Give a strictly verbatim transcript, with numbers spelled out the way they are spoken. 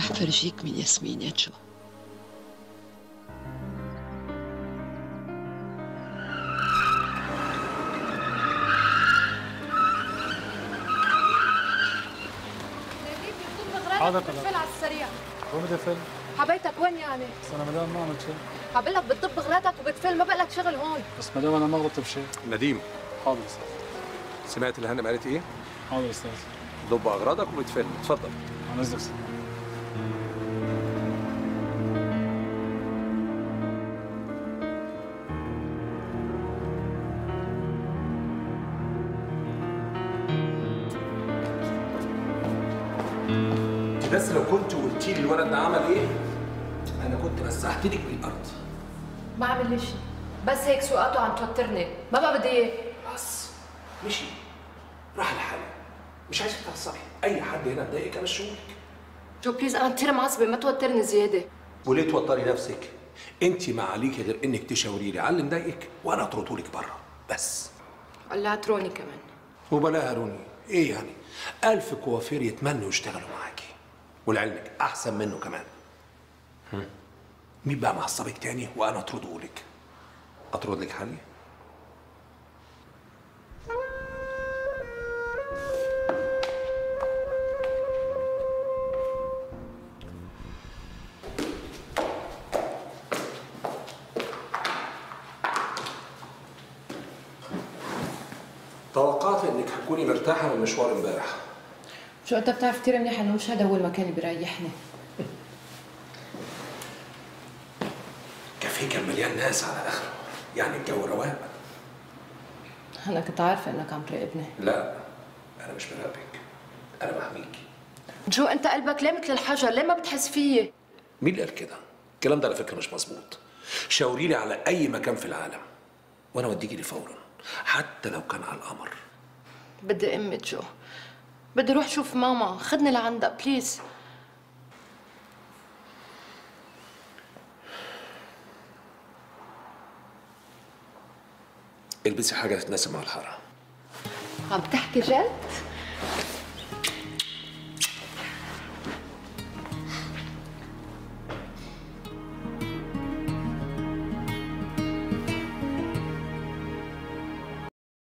رح فرجيك من ياسمين يا جو. حاضر بتفل على السريع. وين بدي افل؟ حبيتك وين يعني؟ بس انا مدام ما عملت شيء. حبقول لك بتطب غراضك وبتفل، ما بقلك شغل هون. بس مدام انا ما غلطت بشيء. نديم. حاضر استاذ. سمعت اللي هانم قالت ايه؟ حاضر استاذ. ضب اغراضك وبتفل، اتفضل. عن اذنك استاذ. بس لو كنت قلتي لي الولد ده عمل ايه انا كنت مسحت لك بالارض. ما عمل لي شيء، بس هيك سوقاته عم توترني، ما بقى بدي اياه. بس مشي راح لحاله، مش عايزك تعصبي، اي حد هنا مضايقك امشيهولك. جو بليز انا كثير معصبه، ما توترني زياده. وليه توتري نفسك؟ انت ما عليكي غير انك تشاوري لي على اللي مضايقك وانا اطردهولك بره بس. قلعت روني كمان. وبلاها روني، ايه يعني؟ ألف كوافير يتمنوا يشتغلوا معاكي، ولعلمك أحسن منه كمان. هم. مين بقى معصبك تاني وأنا أطردهولك؟ أطرد لك حالي؟ توقعت إنك هتكوني مرتاحة من مشوار امبارح. شو انت بتعرف كثير منيح انه مش هذا هو المكان اللي بيريحني. كافيه كان مليان ناس على اخره، يعني الجو رواق. انا كنت عارفه انك عم تراقبني. لا انا مش براقبك، انا بحميكي. جو انت قلبك ليه مثل الحجر، ليه ما بتحس فيي؟ مين اللي قال كده؟ الكلام ده على فكره مش مظبوط. شاوري لي على اي مكان في العالم وانا اوديكي ليه فورا، حتى لو كان على القمر. بدي امي جو، بدي اروح شوف ماما، خدني لعندها بليز. البسي حاجه تتناسب مع الحاره. عم تحكي جد؟